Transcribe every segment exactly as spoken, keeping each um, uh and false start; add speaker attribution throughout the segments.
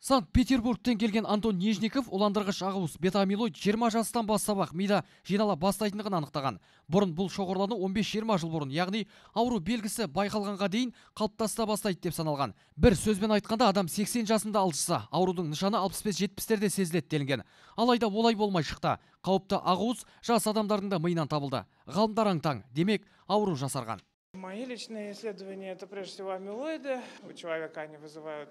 Speaker 1: Санкт-Петербургтен келген Антон Нежников уландырғыш ағуыз бета-амилоид жиырма жастан бастап-ақ мида жинала бастайтындығын анықтаған. Бұрын бұл шоғырлану он бес жиырма жыл бұрын, яғни ауру белгісі байқалғанға дейін қалыптаса бастайды деп саналған. Бір сөзбен айтқанда, адам сексен жасында алжыса, аурудың нышаны алпыс бес жетпістерде сезіледі делінген. Алайда олай болмай шықты. Қауіпті ағуыз жас адамдардың да миынан табылды. Ғалымдар аң-таң, демек ауру жасарған.
Speaker 2: Мои личные исследования — это прежде всего амилоиды. У человека они вызывают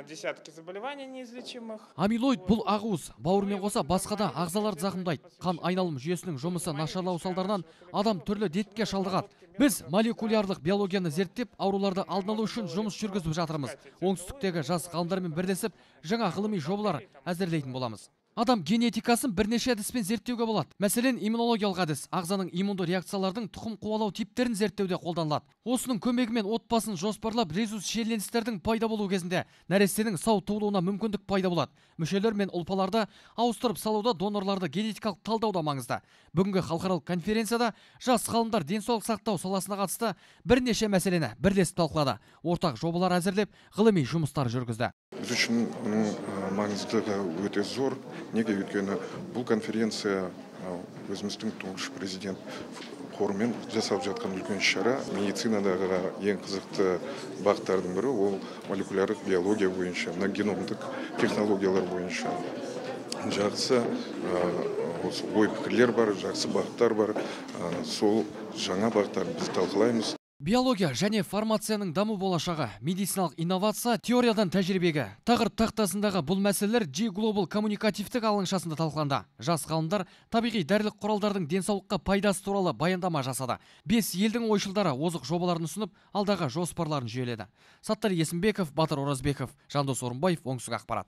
Speaker 2: десятки заболеваний неизлечимых.
Speaker 1: Амилоид бұл ағуыз бауырмен қоса басқа да ағзаларды зақымдайды. Қан айналым жүйесінің жұмысы нашарлау салдарынан адам түрлі дертке шалдығады. Біз молекулярлық биологияны зерттеп, ауруларды алдын алу үшін жұмыс жүргізіп жатырмыз. Оңтүстіктегі жас ғалымдармен бірлесіп, жаңа ғылыми жобалар әзірлейтін боламыз. Адам генетикасын бірнеше әдіспен зерттеуге болады. Мәселен, иммунологиялық әдіс ағзаның иммунды реакциялардың тұқым қуалау типтерін зерттеуде қолданылады. Осының көмегімен отбасын жоспарлап, резус шиеленістердің пайда болу кезінде нәрестенің сау туылуына мүмкіндік пайда болады. Мүшелер мен ұлпаларды ауыстырып салуда донорларды генетикалық талдауда маңызды. Бүгінгі халықаралық конференцияда жас ғалымдар денсаулық сақтау саласына қатысты бірнеше мәселені бірлесіп талқылады. Ортақ жобалар әзірлеп, ғылыми жұмыстар жүргізді.
Speaker 3: Біз үшін оның маңыздылығы өте зор. Неге өйткені бұл конференция өзіміздің тұңғыш президент қорымен жасап жатқан үлкен шара. Медицинадағы ең қызықты бағыттардың бірі ол молекулярлық биология бойынша, геномдық технологиялар бойынша. Жақсы ой пікірлер бар, жақсы бағыттар бар. Сол жаңа бағыттарды біз талқылаймыз.
Speaker 1: Биология және фармацияның даму болашағы, медициналық инновация, теориядан тәжірибеге. Тақырып тақтасындағы бұл мәселелер G Global коммуникативтік алаңшасында талқыланды. Жас ғалымдар табиғи дәрілік құралдардың денсаулыққа пайдасы туралы баяндама жасады. Бес елдің ойшылдары озық жобаларын ұсынып, алдағы жоспарларын жүйеледі. Саттар Есімбеков, Батыр Оразбеков, Жандос Орынбаев, Оңтүстік ақпарат.